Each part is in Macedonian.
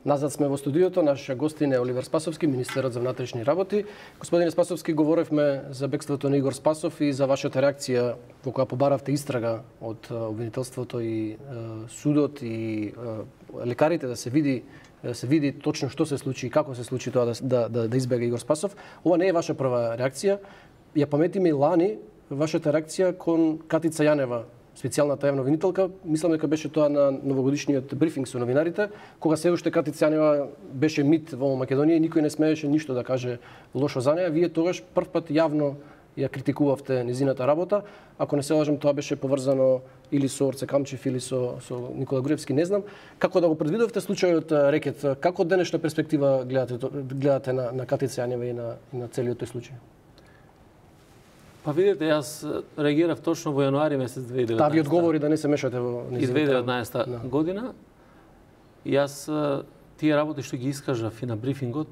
Назад сме во студиото, наш гостин е Оливер Спасовски, министерот за внатрешни работи. Господине Спасовски, говоревме за бегството на Игор Спасов и за вашата реакција во која побаравте истрага од обвинителството и судот и лекарите да се види точно што се случи и како се случи тоа да избега Игор Спасов. Ова не е ваша прва реакција. Ја паметиме и лани вашата реакција кон Катица Јанева, специјалната јавна обвинителка. Мислам дека беше тоа на новогодишниот брифинг со новинарите, кога се уште Катица Јанева беше мит во Македонија и никој не смееше ништо да каже лошо за неа. Вие тогаш првпат јавно ја критикувавте незината работа. Ако не се лажам, тоа беше поврзано или со Орце Камчев или со Никола Груевски, не знам. Како да го предвидовте случајот Рекет? Како од денешна перспектива гледате на Катица Јанева и на целиот тој случај? Па видите, јас реагирав точно во јануари месец 2019. Таа ви одговори да не се мешате во незината 2019 година. Јас тие работи што ги искажав и на брифингот,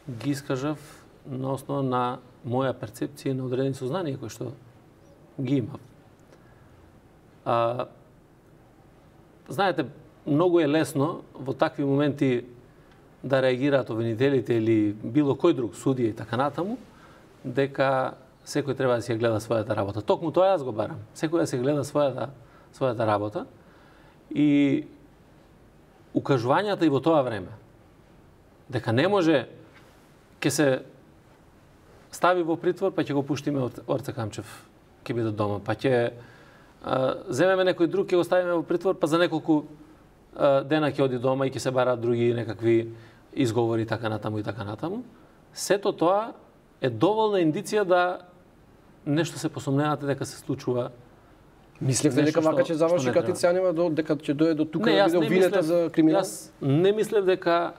ги искажав на основа на моја перцепција и на одредени сознанија кои што ги имав. Знаете, многу е лесно во такви моменти да реагираат обвинителите или било кој друг судија и така натаму, дека секој треба да си ја гледа својата работа. Токму тоа јас го барам. Секој да се гледа својата работа и укажувањата и во тоа време дека не може ќе се стави во притвор, па ќе го пуштиме Орце Камчев, ќе биде дома, па ќе земеме некој друг, ќе го ставиме во притвор, па за неколку дена ќе оди дома и ќе се бараат други некакви изговори така натаму и така натаму. Сето тоа е доволна индиција да нешто се посомневате дека се случува. Мислевте дека вака ќе заврши Катица Јанева дека ќе дојде до тука да биде обвинета за криминал? Јас не мислев дека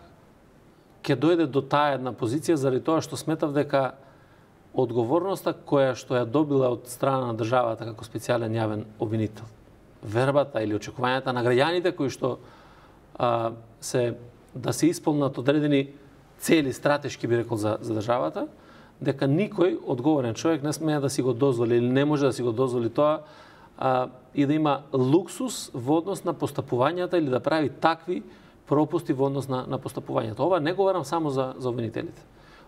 ќе дојде до таа една позиција заради тоа што сметав дека одговорноста која што ја добила од страна на државата како специјален јавен обвинител, вербата или очекувањата на граѓаните кои што да се исполнат одредени цели стратешки би рекол за државата, дека никој одговорен човек не смее да си го дозволи или не може да си го дозволи тоа и да има луксус во однос на постапувањата или да прави такви пропусти во однос на постапувањата. Ова не говорам само за обвинителите.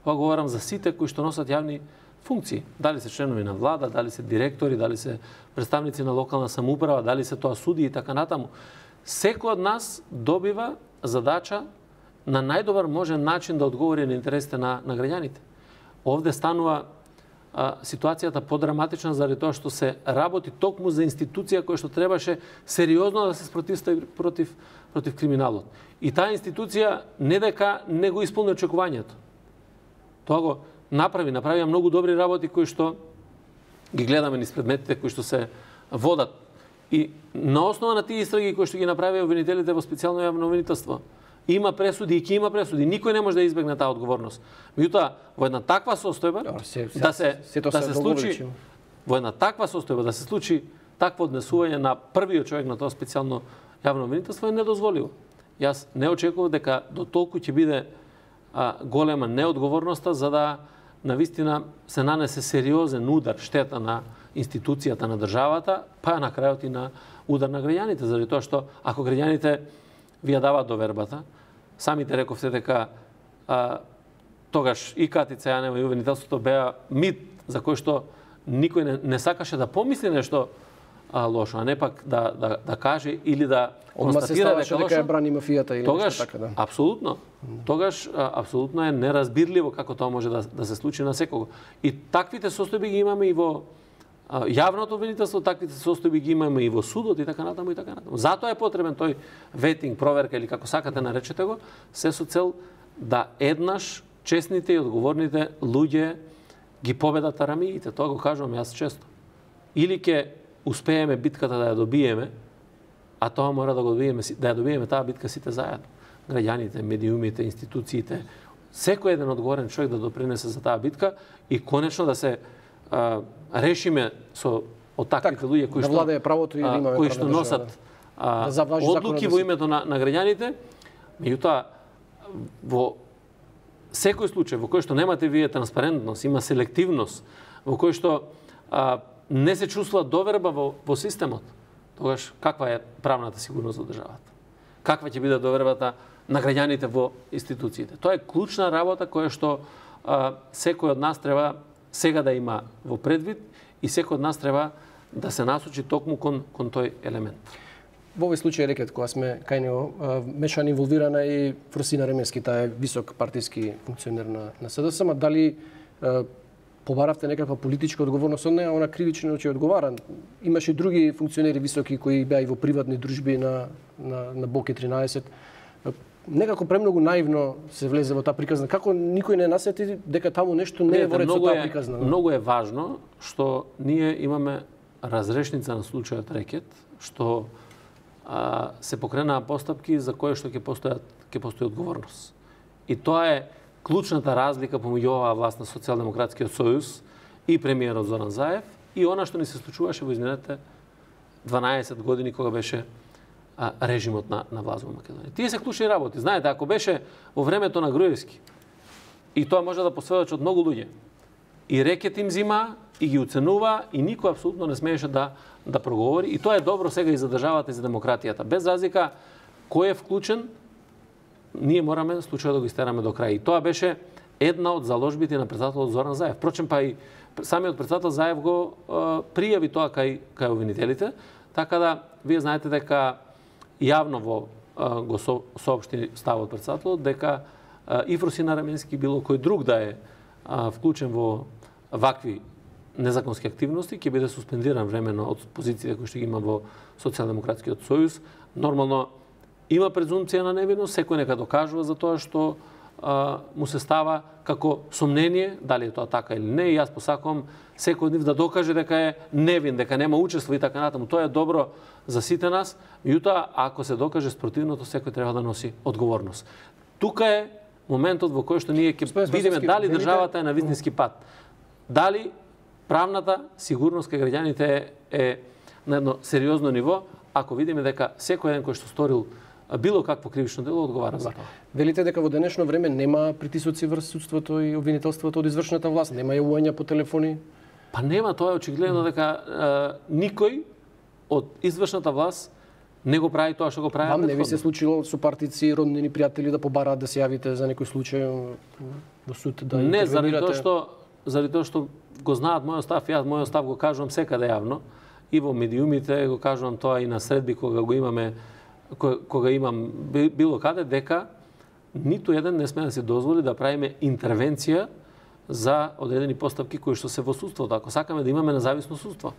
Ова говорам за сите кои што носат јавни функции. Дали се членови на влада, дали се директори, дали се представници на локална самоуправа, дали се тоа суди и така натаму. Секој од нас добива задача на најдобар можен начин да одговори на интересите на граѓаните. Овде станува ситуацијата подраматична заради тоа што се работи токму за институција која што требаше сериозно да се спротивстави против криминалот. И таа институција не дека не го исполни очекувањето. Тоа го направија многу добри работи кои што ги гледаме низ предметите кои што се водат. И на основа на тие истраги кои што ги направија обвинителите во специјално јавно обвинителство, има пресуди и ќе има пресуди. Никој не може да избегне таа одговорност. Меѓутоа, во една таква состојба да се случи во една таква состојба да се случи такво однесување на првиот човек на тоа специјално јавно обвинителство е недозволиво. Јас не очекував дека до толку ќе биде голема неодговорноста за да навистина се нанесе сериозен удар, штета на институцијата на државата, па на крајот и на удар на граѓаните, заради тоа што ако граѓаните ви ја даваат довербата, самите рековте дека тогаш и Катица Јанева и обвинителството беа мит за кој што никој не сакаше да помисли нешто лошо, а не пак да каже или да констатира дека лошо. Дека брани мафијата или тогаш, нешто така, да. Апсолутно. Тогаш апсолутно е неразбирливо како тоа може да се случи на секого. И таквите состојби ги имаме и во јавното обвинителство, таквите состојби ги имаме и во судот и така натаму и така натаму. Затоа е потребен тој ветинг, проверка или како сакате наречете го, се со цел да еднаш честните и одговорните луѓе ги победат арамиите. Тоа го кажувам јас често. Или ќе успееме битката да ја добиеме, а тоа мора да ја добиеме таа битка сите заедно. Граѓаните, медиумите, институциите, секој еден одговорен човек да допринесе за таа битка и конечно да се решиме од таквите луѓе кои што носат одлуки во името на граѓаните. Меѓутоа, во секој случај во кој што немате вие транспарентност, има селективност, во кој што не се чувствува доверба во системот, тогаш каква е правната сигурност во државата? Каква ќе биде довербата на граѓаните во институциите. Тоа е клучна работа која што секој од нас треба сега да има во предвид и секој од нас треба да се насочи токму кон тој елемент. Во овој случај рекет кога сме кај него мешана инволвирана и Фросина Ременски, таа е висок партиски функционер на СДС, ма дали побаравте некаква политичка одговорност од неа, она кривично ќе одговара. Имаше други функционери високи кои беа и во приватни дружби на Боке 13. Некако премногу наивно се влезе во таа приказна. Како никој не насети дека таму нешто не е во ред со таа приказна? Многу е важно што ние имаме разрешница на случајот рекет, што се покренаа постапки за кои што ќе постои одговорност. И тоа е клучната разлика помеѓу оваа власт на Социјалдемократскиот сојуз и премиерот Зоран Заев и она што ни се случуваше во изминатите 12 години кога беше режимот на власт во Македонија. Тие се клучни работи. Знаете, ако беше во времето на Груевски, и тоа може да посведочат многу луѓе, и рекет им зима, и ги оценува, и никој апсолутно не смееше да проговори. И тоа е добро сега и за државата, и за демократијата. Без разлика кој е вклучен, ние мораме случајот да го истераме до крај. И тоа беше една од заложбите на председателот Зоран Заев. Впрочем, па и самиот председател Заев го пријави тоа кај обвинителите, така да вие знаете дека јавно го соопшти ставот председателот дека и Фросина Ременски било кој друг да е вклучен во вакви незаконски активности ќе биде суспендиран времено од позициите кои што ги има во Социјалдемократскиот сојуз. Нормално има презумпција на невиност, секој нека докажува за тоа што му се става како сомнение, дали е тоа така или не, и јас посакувам секој од нив да докаже дека е невин, дека нема учество и така натаму. Тоа е добро за сите нас, меѓутоа ако се докаже спротивното, секој треба да носи одговорност. Тука е моментот во кој што ние ќе видиме дали државата е на вистински пат. Дали правната сигурност кај граѓаните е на едно сериозно ниво, ако видиме дека секој еден кој што сторил било какво кривично дело одговара за тоа. Велите дека во денешно време нема притисоци врз судството и обвинителството од извршната власт, нема јавувања по телефони? Па нема, тоа е очигледно дека никој од извршната власт не го прави тоа што го прави. Вам не ви се случило со партици, роднини, пријатели да побараат да се јавите за некој случај во суд да не, заради тоа што го знаат мојот став, јас мојот став го кажувам секаде јавно и во медиумите го кажувам тоа и на средби кога го имаме, кога имам било каде, дека ниту еден не сме да се дозволи да правиме интервенција за одредени постапки кои што се во судството, ако сакаме да имаме независно судство.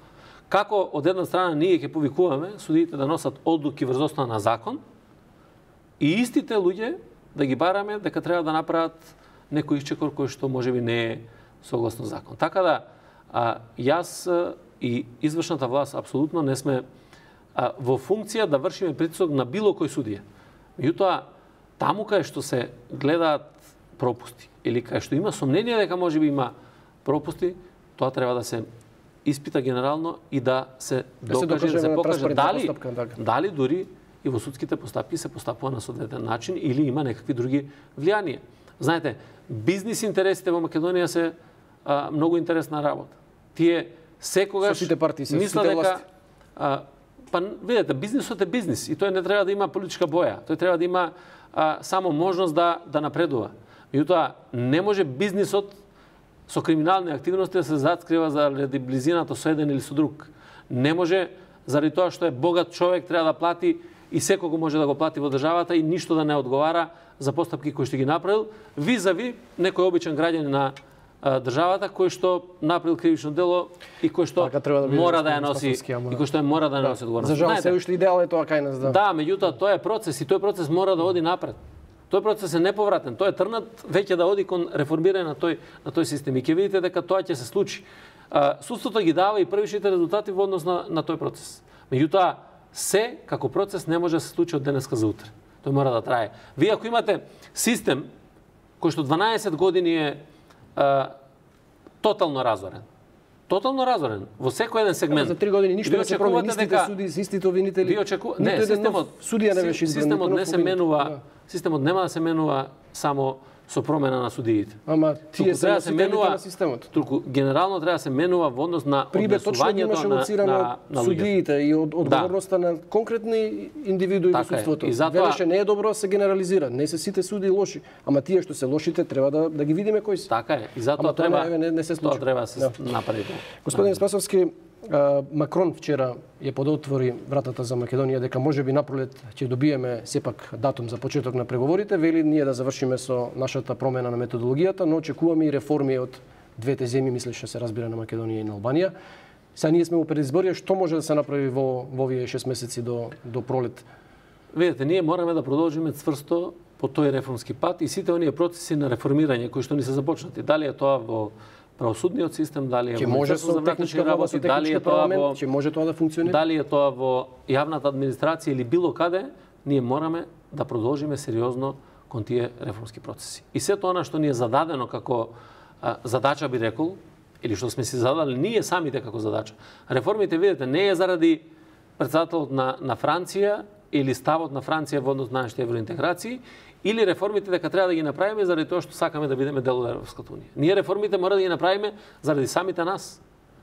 Како од една страна ние ќе повикуваме судиите да носат одлуки врз основа на закон и истите луѓе да ги бараме дека треба да направат некој исчекор кој што можеби не е согласно закон. Така да јас и извршната власт апсолутно не сме во функција да вршиме притисок на било кој судија. Меѓутоа, таму кај што се гледаат пропусти или кај што има сомнение дека можеби има пропусти, тоа треба да се испита генерално и да се докаже, да се покаже дали дури и во судските постапки се постапува на соодветен начин или има некакви други влијанија. Знаете, бизнис интересите во Македонија се многу интересна работа. Тие секогаш мислат дека па видете, бизнисот е бизнис и тој не треба да има политичка боја. Тој треба да има само можност да напредува. Меѓутоа, не може бизнисот со криминални активности да се заскрива заради близината со еден или со друг. Не може заради тоа што е богат човек треба да плати и секого може да го плати во државата и ништо да не одговара за постапки кои што ги направил визави некој обичен граѓанин на државата кој што направил кривично дело и кој што мора да ја носи и кој што мора да носи одговорност. За жал се уште идеал е тоа кај нас, да. Да, меѓутоа тоа е процес и тој процес мора да оди напред. Тој процес е неповратен. Тој е трнат веќе да оди кон реформирање на тој систем и ќе видите дека тоа ќе се случи. Судството ги дава и првишните резултати во однос на тој процес. Меѓутоа се како процес не може да се случи од денеска за утре. Тој мора да трае. Вие ако имате систем кој што 12 години е тотално разорен. Тотално разорен во секој еден сегмент. За 3 години ништо не се промени, истите суди, истите обвинители. Не, системот не се менува, системот нема да се менува само со промена на судиите. Ама тие се носителите на системот. Туку генерално треба да се менува во однос на однесувањето на судиите и одговорноста на конкретни индивидуи во судството. Велеше не е добро да се генерализира, не се сите суди лоши, ама тие што се лошите треба да ги видиме кои се. Така е. И затоа треба не се случи. Тоа треба да се направи. Господин Спасовски, Макрон вчера ја подотвори вратата за Македонија дека можеби напролет ќе добиеме сепак датум за почеток на преговорите, вели ние да завршиме со нашата промена на методологијата, но очекуваме и реформи од двете земји, мислиш се разбира на Македонија и на Албанија. Сега ние сме во предизборие, што може да се направи во овие 6 месеци до пролет? Видете, ние мораме да продолжиме цврсто по тој реформски пат и сите оние процеси на реформирање кои што ни се започнати. Дали е тоа во правосудниот систем, дали е во Министерството за внатрешни работи, дали е тоа во ќе може тоа да функционира? Дали е тоа во јавната администрација или било каде, ние мораме да продолжиме сериозно кон тие реформски процеси. И сето она што ни е зададено како задача, би рекол, или што сме си задали ние самите како задача. Реформите, видите, не е заради претседателот на Франција или ставот на Франција во однос на нашите евроинтеграции, или реформите дека треба да ги направиме заради тоа што сакаме да бидеме дел од Европската унија. Ние реформите мора да ги направиме заради самите нас.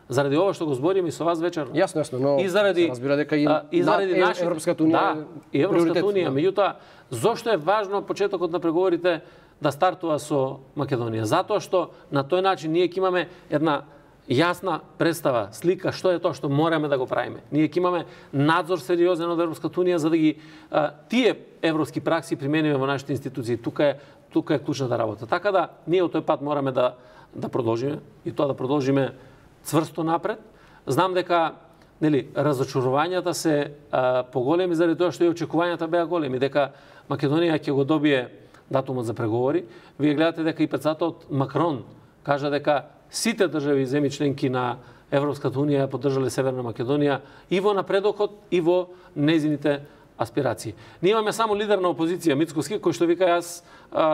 Заради ова што го збориме и со вас вечер. Јасно, но и заради, разбира дека и заради Европската унија, и Европската унија, меѓутоа зошто е важно почетокот на преговорите да стартува со Македонија? Затоа што на тој начин ние ќе имаме една јасна представа, слика што е тоа што мораме да го правиме. Ние ќе имаме надзор сериозен од Европската унија за да ги тие европски пракси примениме во нашите институции. Тука е клучната работа. Така да ние од тој пат мораме да продолжиме и тоа да продолжиме цврсто напред. Знам дека разочарувањата се поголеми заради тоа што и очекувањата беа големи, дека Македонија ќе го добие датумот за преговори. Вие гледате дека и претседателот Макрон кажа дека сите држави земји членки на Европската унија ја поддржале Северна Македонија и во напредокот и во незините аспирации. Ние имаме само лидер на опозиција Мицкоски кој што вика јас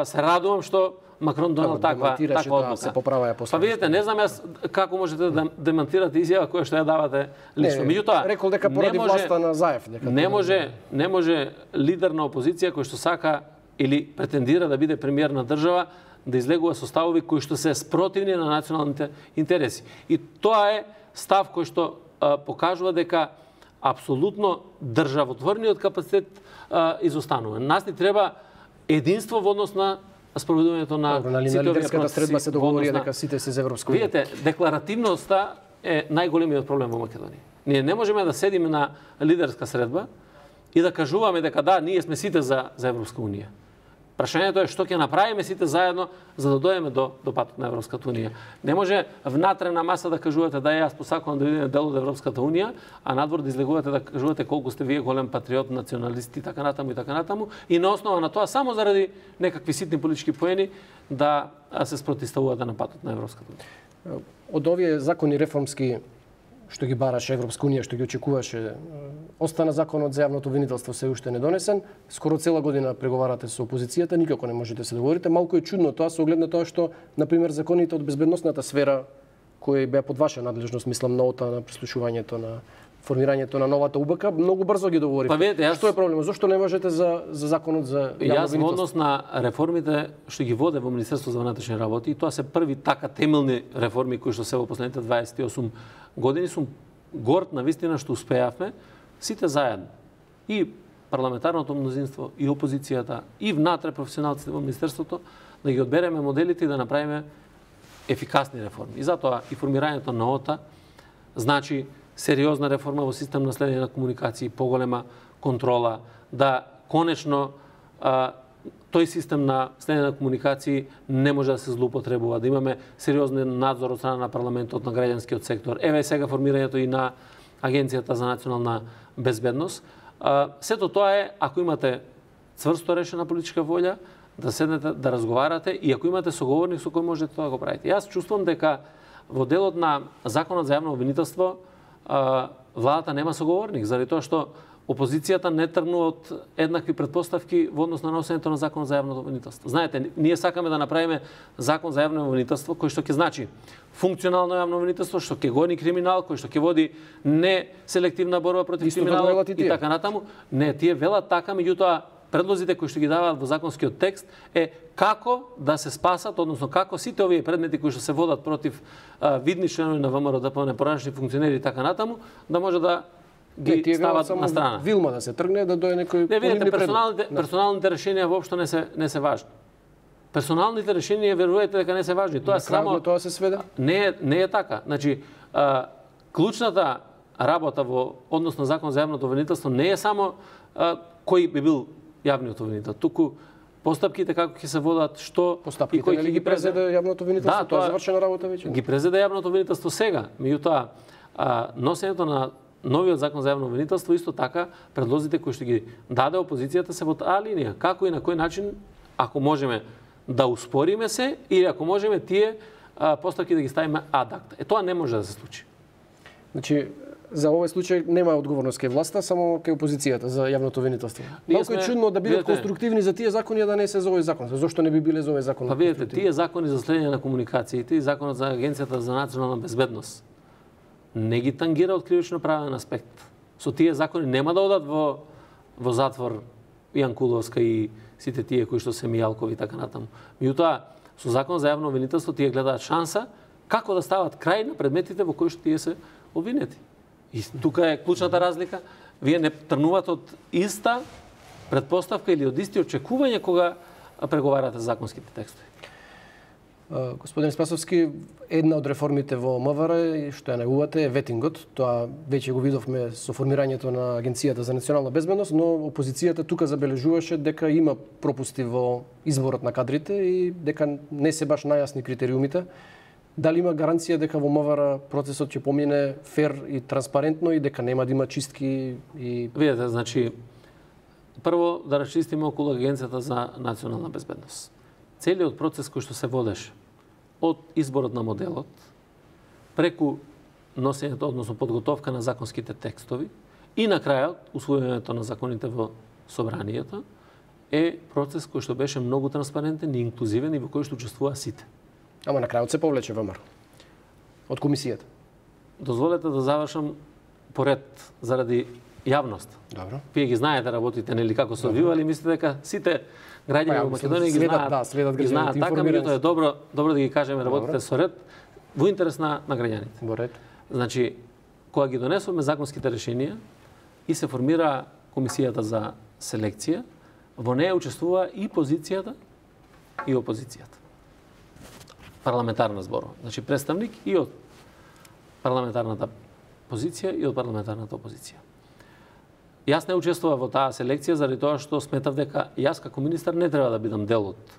се радувам што Макрон донел таква одлука. Се поправаја после. Па видите, не знам јас како можете да демантирате изјава која што ја давате лично. Меѓутоа, рекол дека поради власта на Заев дека не може лидер на опозиција кој што сака или претендира да биде премиер на држава да излегува со ставови кои што се спротивни на националните интереси. И тоа е став кој што покажува дека апсолутно државотворниот капацитет изостанува. Нас ни треба единство во однос на спроведувањето на сите лидерската средба се договори дека сите се за Европска унија. Видите, декларативноста е најголемиот проблем во Македонија. Ние не можеме да седиме на лидерска средба и да кажуваме дека да, ние сме сите за Европска унија. Прашањето е што ќе направиме сите заедно за да дојдеме до патот на Европската унија. Не може внатре на маса да кажувате да јас посакувам да бидеме дел од Европската унија, а надвор да излегувате да кажувате колку сте вие голем патриот, националист и така натаму и на основа на тоа само заради некакви ситни политички поени да се спротивставувате на патот на Европската унија. Од овие закони реформски што ги бараше Европска унија, што ги очекуваше, остана законот за јавното обвинителство се уште не донесен. Скоро цела година преговарате со опозицијата, никако не можете да се договорите. Малку е чудно тоа со оглед на тоа што, например, законите од безбедносната сфера кои беа под ваша надлежност, мислам нота на прислушувањето на формирањето на новата УБК, многу брзо ги договорите. Па видите, што е проблемот? Зошто не можете за законот за јавно обвинителство? Јас во однос на реформите што ги воде во Министерството за внатрешни работи, и тоа се први така темелни реформи кои што се во последните 28 години, сум горд на вистина што успеавме сите заедно. И парламентарното мнозинство, и опозицијата, и внатре професионалците во Министерството, да ги одбереме моделите и да направиме ефикасни реформи. И затоа и формирањето на ОТА значи сериозна реформа во систем на следење на комуникации, поголема контрола, да конечно тој систем на следење на комуникации не може да се злоупотребува, да имаме сериозен надзор од страна на парламентот, на граѓанскиот сектор. Еве сега формирањето и на Агенцијата за национална безбедност. Сето тоа е ако имате цврсто решена политичка волја, да седнете, да разговарате и ако имате соговорник со кој можете тоа да го правите. Јас чувствувам дека во делот на Законот за јавно обвинителство владата нема соговорник, заради тоа што опозицијата не тргнува од еднакви претпоставки во однос на носењето на Закон за јавно обвинителство. Знаете, ние сакаме да направиме Закон за јавно обвинителство кој што ќе значи функционално јавно обвинителство, што ќе гони криминал, кој што ќе води не селективна борба против криминалот и така натаму. Не, тие велат така, меѓутоа предлозите кои што ги даваат во законскиот текст е како да се спасат, односно како сите овие предмети кои што се водат против видни членови на ВМРО, ДПМНЕ, поранешни функционери и така натаму, да може да ги стават на страна. Вилма да се тргне, да дојде некој Не, видите, персоналните решенија воопшто не се важни. Персоналните решенија, верувајте дека не се важни. Тоа само тоа се сведе? Не е така. Значи, клучната работа во однос на Закон за јавното обвинителство не е само кој би бил јавниот обвинител, туку постапките како ќе се водат, што и кој ќе ги презеде јавното обвинителство, тоа е завршена работа веќе. Ги презеде јавното обвинителство сега, меѓутоа носењето на новиот Закон за јавно обвинителство исто така предлозите кои што ги даде опозицијата се во таа линија, како и на кој начин ако можеме да успориме се или ако можеме тие постапки да ги ставиме ад акта. Тоа не може да се случи. Значи, за овој случај нема одговорност кај власта, само кај опозицијата за јавното обвинителство. Малку е чудно да бидат конструктивни за тие закони, да не се за овој закон. Зошто не би биле за овој закон? Па видите, тие закони за следење на комуникациите и законот за Агенцијата за национална безбедност не ги тангира од кривично правен аспект. Со тие закони нема да одат во затвор Јан Куловска и сите тие кои што се Мијалкови и така натаму. Меѓутоа, со Закон за јавно обвинителство тие гледаат шанса како да стават крај на предметите во кои што тие се обвинети. И тука е клучната разлика. Вие не тргнувате од иста предпоставка или од исти очекување кога преговарате законските текстови. Господин Спасовски, една од реформите во МВР што ја најавувате е ветингот. Тоа веќе го видовме со формирањето на Агенцијата за национална безбедност, но опозицијата тука забележуваше дека има пропусти во изборот на кадрите и дека не се баш најасни критериумите. Дали има гаранција дека во МВР процесот ќе помине фер и транспарентно и дека нема да има чистки и... Видете, значи, прво да расчистиме околу Агенцијата за национална безбедност. Целиот процес кој што се водеше од изборот на моделот, преку носењето, односно подготовка на законските текстови и на крајот усвојувањето на законите во собранието, е процес кој што беше многу транспарентен и инклузивен и во кој што учествуваа сите. Ама на крајот се повлече ВМРО од комисијата. Дозволете да завршам поред заради јавност. Добро. Вие ги знаете, работите нели како се одвивали, мислите дека сите граѓани во Македонија ги знаат така, меѓутоа е добро да ги кажеме, работите со ред во интерес на граѓаните. Во ред. Значи, кога ги донесуваме законските решенија и се формира комисијата за селекција, во неја учествува и позицијата и опозицијата. Парламентарна зборува. Значи, представник и од парламентарната позиција и од парламентарната опозиција. Јас не учествував во таа селекција заради тоа што сметав дека јас како министар не треба да бидам дел од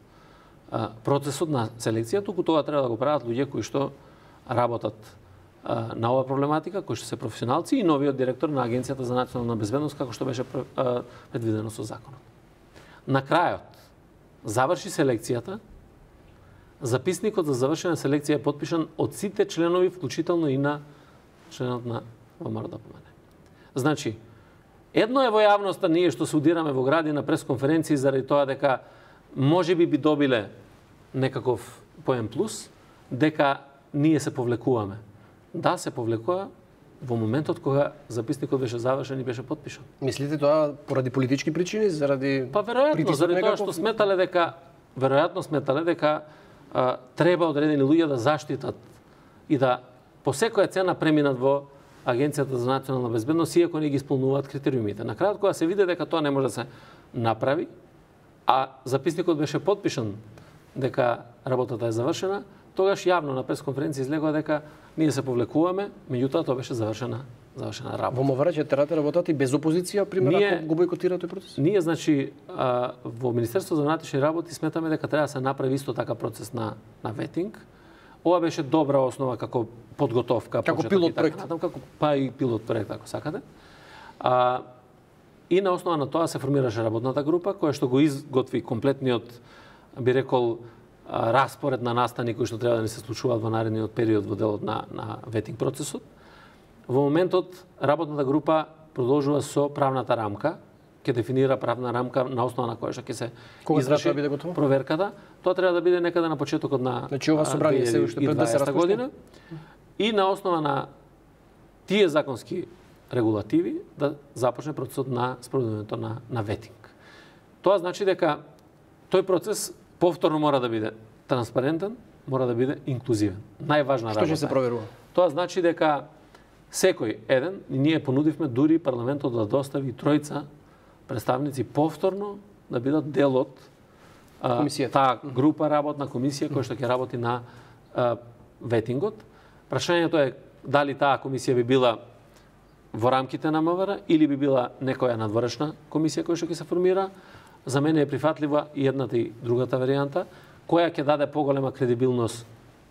процесот на селекција, туку тоа треба да го прават луѓе кои што работат на оваа проблематика, кои што се професионалци и новиот директор на Агенцијата за национална безбедност како што беше предвидено со законот. На крајот заврши селекцијата. Записникот за завршена селекција е потпишан од сите членови, вклучително и на членот на ВМРО-ДПМНЕ. Значи, едно е во јавноста ние што се удираме во гради на пресконференции заради тоа дека можеби би добиле некаков поен плюс, дека ние се повлекуваме. Да, се повлекува во моментот кога записникот беше завршен и беше потпишан. Мислите тоа поради политички причини, заради Па веројатно, заради тоа што сметале дека треба одредени луѓе да заштитат и да по секоја цена преминат во Агенцијата за национална безбедност, иако не ги исполнуваат критериумите. На крајот, кога се види дека тоа не може да се направи, а записникот беше потпишан дека работата е завршена, тогаш јавно на пресконференција излегува дека ние се повлекуваме, меѓутоа тоа беше завршена работа. Во МВР ќе терате работати без опозиција, пример, ако го бойкотира тој процес? Ние, значи, во Министерството за внатрешни работи сметаме дека треба да се направи исто така процес на ветинг. Ова беше добра основа како подготовка, како пилот проект, па и пилот проект ако сакате. И на основа на тоа се формираше работната група која што го изготви комплетниот, би рекол, распоред на настани кои што треба да не се случуваат во наредниот период во делот на ветинг процесот. Во моментот работната група продолжува со правната рамка, ќе дефинира правна рамка на основа на која што ќе се изврши проверката. Тоа треба да биде некаде на почетокот на 2020 година. И на основа на тие законски регулативи да започне процесот на спроведувањето на ветинг. Тоа значи дека тој процес повторно мора да биде транспарентен, мора да биде инклузивен. Најважна работа. Што ќе се проверува? Тоа значи дека секој еден, и ние понудивме дури парламентот да достави тројца представници повторно да бидат дел од таа група работна комисија која што ќе работи на ветингот. Прашањето е дали таа комисија би била во рамките на МВР или би била некоја надворешна комисија која што ќе се формира. За мене е прифатлива и едната и другата варијанта, која ќе даде поголема кредибилност,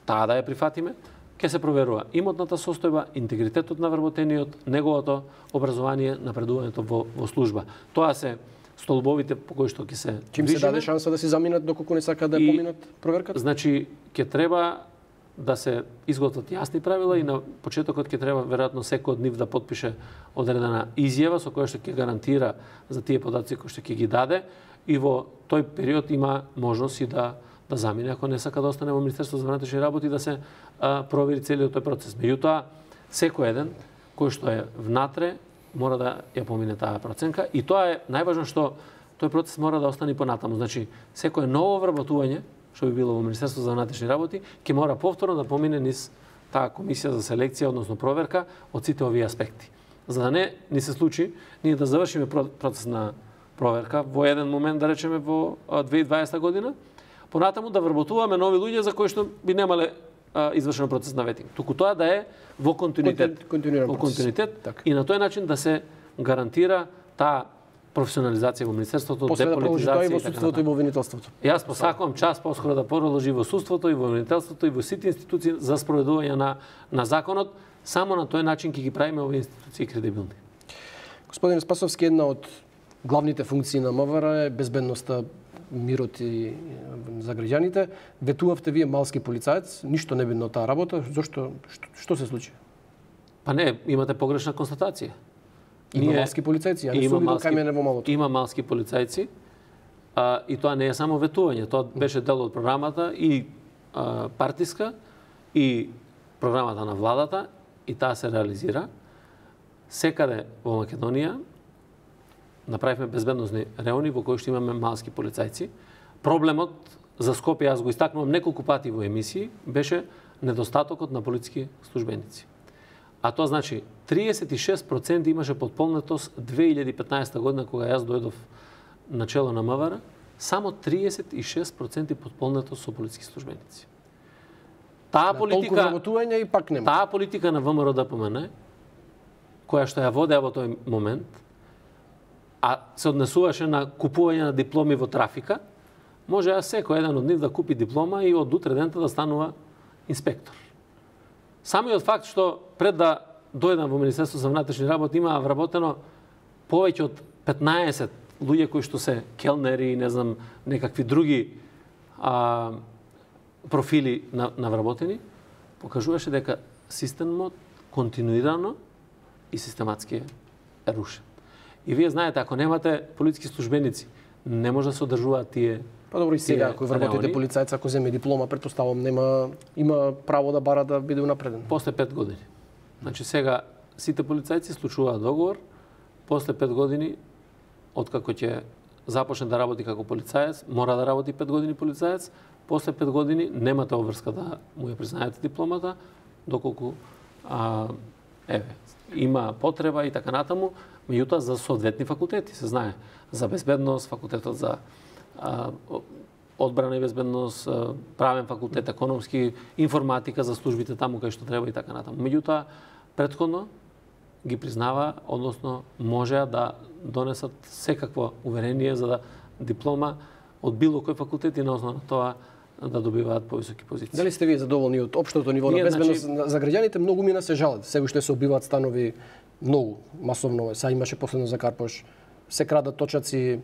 таа да ја прифатиме, ќе се проверува имотната состојба, интегритетот на вработениот, неговото образование, напредувањето во служба. Тоа се столбовите по кои што ќе се Чим се даде шанса да се заминат доколку не сака да поминат проверката? Значи, ќе треба да се изготват јасни правила и на почетокот ќе треба веројатно секој од нив да потпише одредена изјава со која што ќе гарантира за тие податоци кои што ќе ги даде и во тој период има можност и да замине ако не сака да остане во Министерството за внатрешни работи да се провери целиот тој процес. Меѓутоа, секој еден кој што е внатре мора да ја помине таа проценка и тоа е најважно што тој процес мора да остане понатаму. Значи, секое ново вработување што би било во Министерството за внатрешни работи, ќе мора повторно да помине низ таа комисија за селекција, односно проверка од сите овие аспекти. За да не ни се случи ние да завршиме процес на проверка во еден момент, да речеме во 2020 година, понатаму да вработуваме нови луѓе за кои што би немале извршено процес на ветинг. Туку тоа да е во континуитет. Во континуитет и на тој начин да се гарантира таа професионализација во Министерството, деполитизација и во судството и во обвинителството. Јас посакувам час поскоро да продолжи во судството и во обвинителството и во сите институции за спроведување на законот. Само на тој начин ќе ги правиме овие институции кредибилни. Господин Спасовски, една од главните функции на МВР е безбедноста, мирот и за граѓаните. Ветувавте вие малски полицаец, ништо не бидно таа работа. Зошто? Што се случи? Па не, имате погрешна констатација. Има малски полицајци, а не сум видел кај мене во малото. Има малски полицајци, и тоа не е само ветување, тоа беше дел од програмата и партиска и програмата на владата и таа се реализира. Секаде во Македонија направивме безбедносни реони во кои што имаме малски полицајци. Проблемот за Скопје, јас го истакнувам неколку пати во емисии, беше недостатокот на полициски службеници. А тоа значи 36% имаше подполнетост 2015 година кога јас дојдов на чело на МВР, само 36% подполнетост со полициски службеници. Таа политика и пак нема. Таа политика на ВМРО ДПМН, која што ја водеа во тој момент, а се однесуваше на купување на дипломи во трафика, може секој еден од нив да купи диплома и од утре дента да станува инспектор. Самиот факт што пред да дојдам во Министерството за внатрешни работи има вработено повеќе од 15 луѓе кои што се келнери и не знам некакви други профили на вработени, покажуваше дека системот континуирано и систематски е рушен. И вие знаете, ако немате полициски службеници, не може да се одржуваат тие. Па добро и сега, ако вработите полицајец, ако земе диплома, претпоставам има право да бара да биде унапреден. После 5 години. Значи сега сите полицајци случуваат договор, после 5 години откако ќе започне да работи како полицаец, мора да работи 5 години полицаец, после 5 години немате обврска да му ја признаете дипломата, доколку има потреба и така натаму, меѓутоа за соодветни факултети, се знае, за безбедност, факултетот за одбрана и безбедност, правен факултет, економски, информатика за службите таму кај што треба и така натаму. Меѓутоа, претходно ги признава, односно можеа да донесат секакво уверение за да диплома од било кој факултет и на основа на тоа да добиваат повисоки позиции. Дали сте вие задоволни од општото ниво на безбедност за граѓаните? Многу мина се жалат. Сега уште се убиваат станови многу, масовно. Сега имаше последно за Карпош. Се крадат точаци,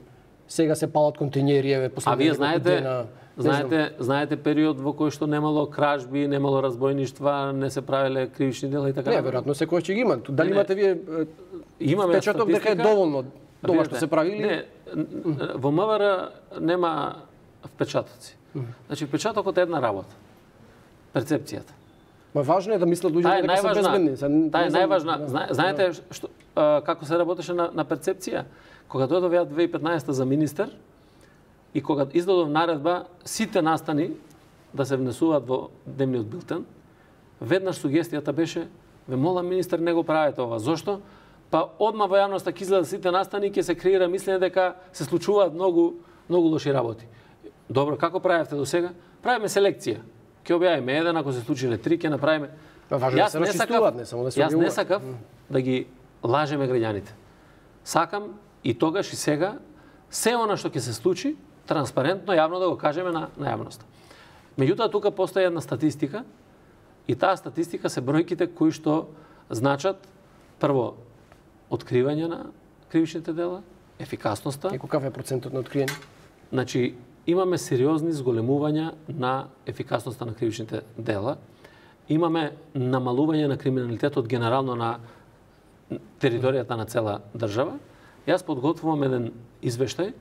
сега се палат контејнери, А вие знаете период во кој што немало кражби, немало разбойништва, не се правеле кривични дела и така натаму? Не, веројатно секој ќе ги има. Дали имате вие впечаток дека е доволно тоа што се прави или? Не, во МВР нема впечатоци. Значи впечатокот е една работа. Перцепцијата. Ма важно е да мислат луѓето дека се безбедни. Таа е најважна. Знаете што како се работеше на перцепција? Кога дојдов ја 2015 за министер, и кога издадов наредба сите настани да се внесуваат во дневниот билтен, веднаш сугестијата беше: ве молам министер, не го правете ова. Зошто? Па одма во јавноста ќе изгледа сите настани, ќе се креира мислење дека се случуваат многу лоши работи. Добро, како правевте до сега? Правиме селекција. Ќе објавиме еден, ако се случиле 3, ќе направиме. Јас не сакав да ги лажеме граѓаните. Сакам и тогаш и сега се она што ќе се случи транспарентно, јавно да го кажеме на јавноста. Меѓутоа тука постои една статистика и таа статистика се бројките кои што значат прво откривање на кривичните дела, ефикасноста. И каков е процентот на откриени? Значи, имаме сериозни зголемувања на ефикасноста на кривичните дела. Имаме намалување на криминалитетот генерално на територијата на цела држава. Јас подготвувам еден извештај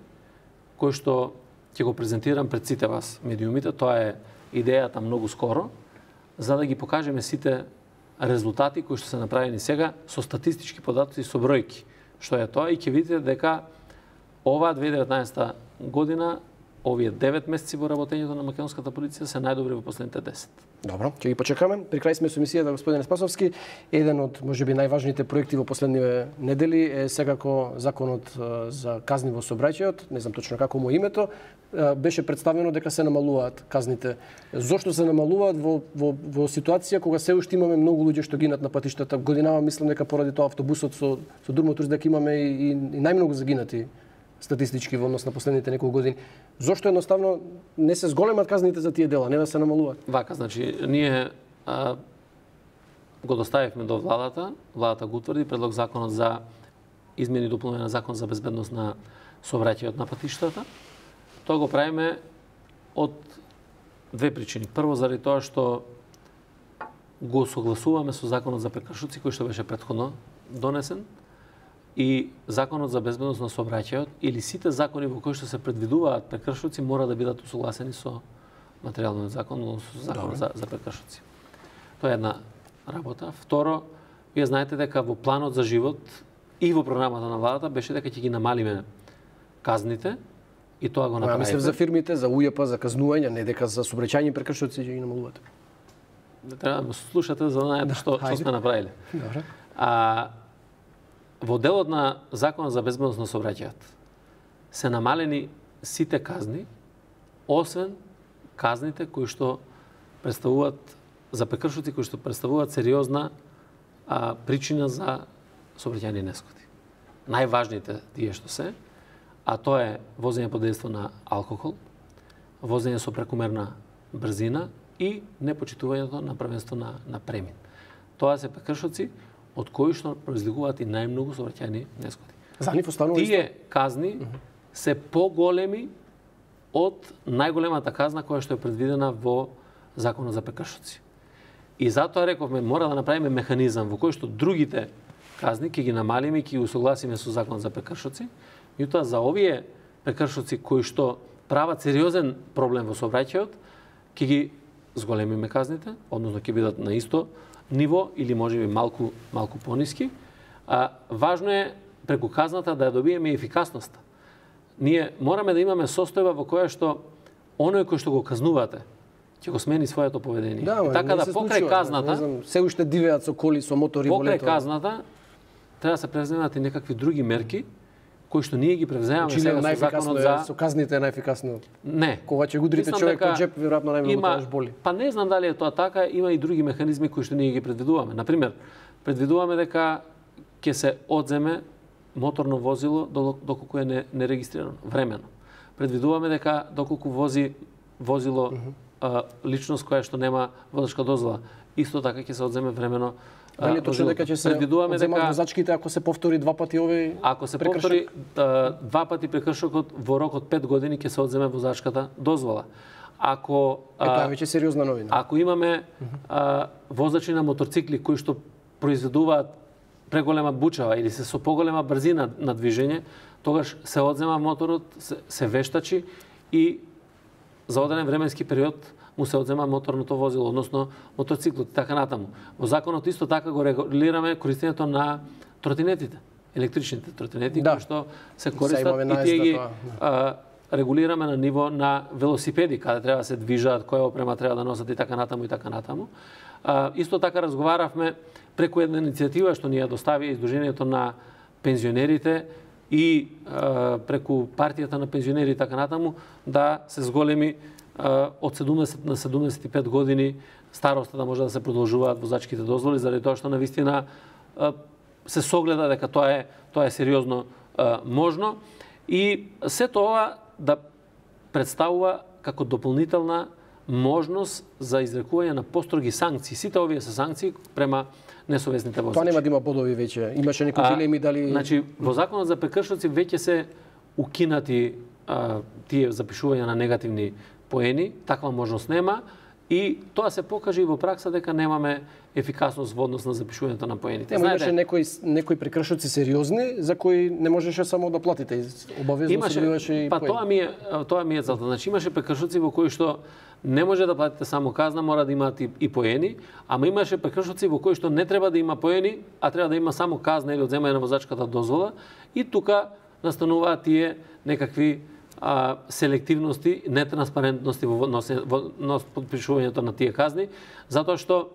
кој што ќе го презентирам пред сите вас медиумите. Тоа е идејата многу скоро, за да ги покажеме сите резултати кои што се направени сега со статистички податоци и со бројки. Што е тоа, и ќе видите дека оваа 2019 година, овие 9 месеци во работењето на македонската полиција се најдобри во последните 10. Добро, ќе ги почекаме. При крај сме со емисијата, господине Спасовски. Еден од можеби најважните проекти во последниве недели е секако законот за казни во сообраќајот, не знам точно како му името. Беше представено дека се намалуваат казните. Зошто се намалуваат во ситуација кога се уште имаме многу луѓе што гинат на патиштата? Годинава мислам дека поради тоа автобусот со Durmotor дека имаме и најмногу загинати статистички во однос на последните неколку години. Зошто едноставно не се зголемат казните за тие дела, не да се намалуваат? Вака, значи, ние го доставивме до владата, владата го утврди предлог законот за измени и дополнување на закон за безбедност на сообраќајот на патиштата. Тоа го правиме од две причини. Прво, заради тоа што го согласуваме со законот за прекршоци кој што беше претходно донесен, и законот за безбедност на сообраќајот или сите закони во кои што се предвидуваат прекршоци мора да бидат усогласени со материјалниот закон, со законот за прекршоци. Тоа е една работа. Второ, вие знаете дека во планот за живот и во програмата на владата беше дека ќе ги намалиме казните и тоа го направивме. Мислев за фирмите, за УЈП, за казнување, не дека за сообраќајни прекршоци ќе ги намалувате. Треба да слушате за да знаете што сме направиле. Добре. Во делот на законот за безбедност на сообраќајот се намалени сите казни, освен казните кои што представуваат за прекршоци кои што представуваат сериозна причина за сообраќајни несгоди. Најважните тие што се, а тоа е возење под дејство на алкохол, возење со прекумерна брзина и непочитувањето на првенство на премин. Тоа се прекршоци од кои што произлегуваат и најмногу сообраќајни несгоди. За нив останува тие казни се поголеми од најголемата казна која што е предвидена во законот за прекршоци. И затоа рековме мора да направиме механизам во кој што другите казни ќе ги намалиме и ќе ги усогласиме со законот за прекршоци. Меѓутоа за овие прекршоци кои што прават сериозен проблем во сообраќајот, ќе ги зголемиме казните, односно ќе бидат на исто ниво или можеби малку пониски. Важно е преку казната да ја добиеме ефикасноста. Ние мораме да имаме состојба во која што оној кој што го казнувате ќе го смени своето поведение. Да, така да покрај казната, се уште дивеат со коли, со мотори во лето. Покрај казната треба да се преземат и некакви други мерки кои што ние ги превземаме сега со законот за со казните е најефикасно. Не. Кога ќе го удрите човек во џеп, веројатно најмногу тоа боли. Па не знам дали е тоа така, има и други механизми кои што ние ги предвидуваме. Например, предвидуваме дека ќе се одземе моторно возило доколку е нерегистрирано времено. Предвидуваме дека доколку вози возило личност која што нема возачка дозвола, исто така ќе се одземе времено. Дали точно дека ќе се одземат возачките ако се повтори два пати овој? Ако се повтори два пати прекршокот во рок од 5 години ќе се одземе возачката дозвола. Ако тоа веќе сериозна новина. Ако имаме возачи на моторцикли кои што произведуваат преголема бучава или се со поголема брзина на движење, тогаш се одзема моторот, се вештачи и за одреден временски период му се одзема моторното возило, односно мотоциклот и така натаму. Во законот исто така го регулираме користењето на тротинетите, електричните тротинети кои што се користат и тие ги регулираме на ниво на велосипеди, каде треба да се движат, која опрема треба да носат и така натаму и така натаму. Исто така разговаравме преку една иницијатива што ни ја достави Издруженијето на пензионерите и преку партијата на пензионери и така натаму да се зголеми од 70 на 75 години староста да може да се продолжуваат возачките дозволи, заради тоа што навистина се согледа дека тоа е сериозно можно и се тоа да представува како дополнителна можност за изрекување на построги санкции. Сите овие се санкции према несовесните возачи. Тоа нема да има бодови веќе. Имаше некои дилеми дали Значи во законот за прекршоци веќе се укинати тие запишувања на негативни поени, таква можност нема и тоа се покаже и во пракса дека немаме ефикасност во однос на запишувањето на поените. Имаше некои прекршоци сериозни за кои не можеше само да платите, обавезно се добиваше и поени. Тоа ми е целта. Значи имаше прекршоци во кои што не може да платите само казна, мора да имаат и поени, ама имаше прекршоци во кои што не треба да има поени, а треба да има само казна или одземање на возачката дозвола и тука настануваат тие некакви селективности, нетранспарентности во подпишувањето на тие казни, затоа што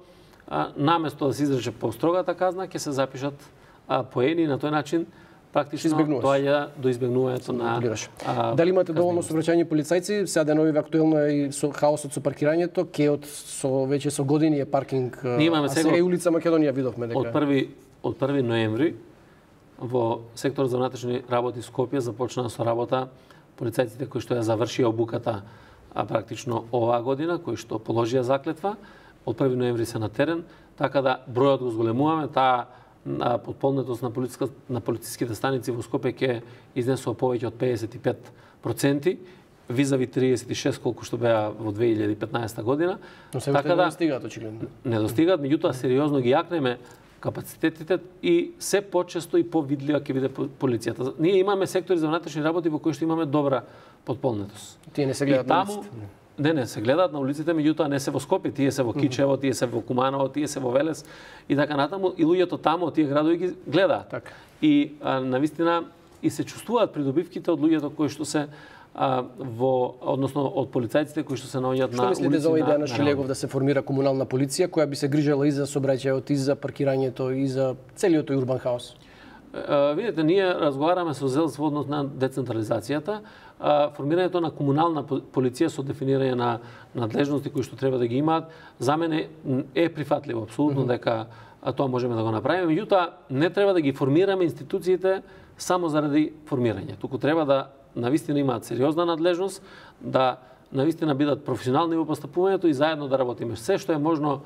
наместо да се изрече построгата казна, ќе се запишат поени и на тој начин практично доаѓа до избегнувањето на Дали имате доволно сообраќајни полицајци? Сега деновиве актуелно е и со хаосот со паркирањето, кеот веќе со години е паркинг, сега и улица Македонија видовме дека од 1 ноември во секторот за внатрешни работи Скопје започнаа со работа полицајците кои што ја завршија обуката практично оваа година, кои што положија заклетва, од 1 ноември се на терен, така да бројот го зголемуваме, таа подполнетост на полициските станици во Скопје ќе изнесува повеќе од 55%, визави 36 колку што беа во 2015 година. Но се така не достигаат очигледно. Не достигаат, меѓутоа сериозно ги јакнеме капацитетите и се почесто и повидлива ќе биде полицијата. Ние имаме сектори за внатрешни работи во кои што имаме добра подполнетост. Тие не се гледаат на улиците. Не, се гледаат на улиците, меѓутоа не се во Скопје, тие се во Кичево, тие се во Куманово, тие се во Велес и така натаму, и луѓето таму од тие градови ги гледаат. Така. И навистина и се чувствуваат придобивките од луѓето кои што се односно од полицајците кои што се наоѓаат на улици. Што мислите за оваа идеја на Шилегов да се формира комунална полиција која би се грижела и за сообраќајот, и за паркирањето, и за целиот тој урбан хаос? Видете, ние разговараме со ЗЕЛС во однос на децентрализацијата. Формирањето на комунална полиција со дефинирање на надлежности кои што треба да ги имаат, за мене е прифатливо, апсолутно дека тоа можеме да го направиме. Меѓутоа, не треба да ги формираме институциите само заради формирање. Туку треба да навистина имаат сериозна надлежност, да навистина бидат професионални во постапувањето и заедно да работиме. Се што е можно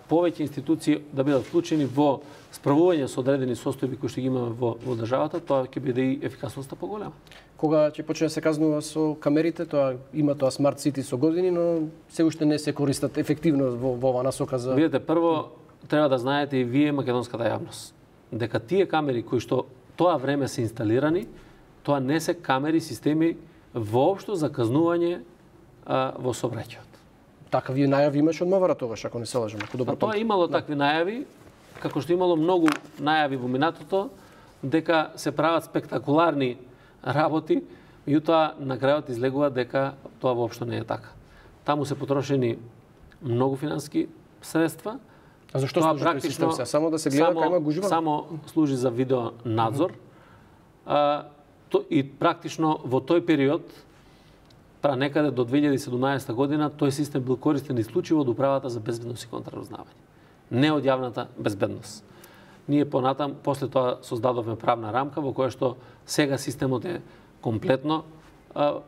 повеќе институции да бидат вклучени во справување со одредени состојби кои што ги имаме во државата, тоа ќе биде и ефикасноста поголема. Кога ќе почне да се казнува со камерите, има тоа смарт сити со години, но се уште не се користат ефективно во оваа насока за... Видете, прво треба да знаете и вие македонската јавност дека тие камери кои што тоа време се инсталирани, тоа не се камери системи воопшто за казнување во сообраќајот. Такви најави имаше од МВР тогаш, ако не се лажам. Тоа имало такви најави, како што имало многу најави во минатото, дека се прават спектакуларни работи, меѓутоа на крајот излегува дека тоа воопшто не е така. Таму се потрошени многу финански средства. А зашто служи тој систем сега? Само да се гледа кај има гужва? Само служи за видео надзор. И практично во тој период, некаде до 2017 година, тој систем бил користен исклучиво од Управата за безбедност и контраразузнавање. Не од јавната безбедност. Ние понатам, после тоа создадовме правна рамка во која што сега системот е комплетно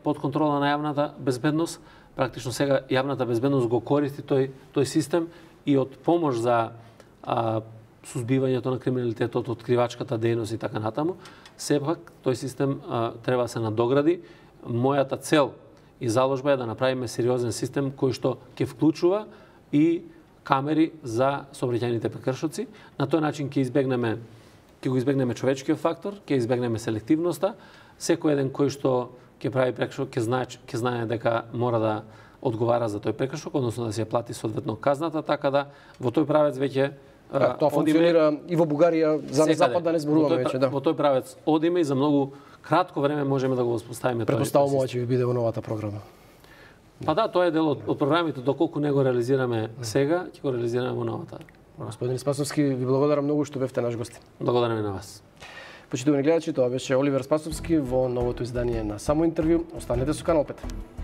под контрола на јавната безбедност. Практично сега јавната безбедност го користи тој систем и од помош за сузбивањето на криминалитетот, откривачката дејност и така натаму. Сепак тој систем треба да се надогради. Мојата цел и заложба е да направиме сериозен систем кој што ќе вклучува и камери за сообраќајните прекршоци. На тој начин ќе го избегнеме човечкиот фактор, ќе избегнеме селективноста. Секој еден кој што ќе прави прекршок ќе знае дека мора да одговара за тој прекршок, односно да се плати соодветно казната, така да во тој правец веќе Тоа функционира и во Бугарија, за на запад да не зборуваме веќе, да. Во тој правец одиме и за многу кратко време можеме да го воспоставиме тој. Претпоставувам ќе ви биде во новата програма. Па да, тоа е дел од програмите, доколку не го реализираме сега, ќе го реализираме во новата. Господин Спасовски, ви благодарам многу што бевте наш гост. Благодарам и на вас. Почитувани гледачи, тоа беше Оливер Спасовски во новото издание на Само интервју. Останете со Канал 5.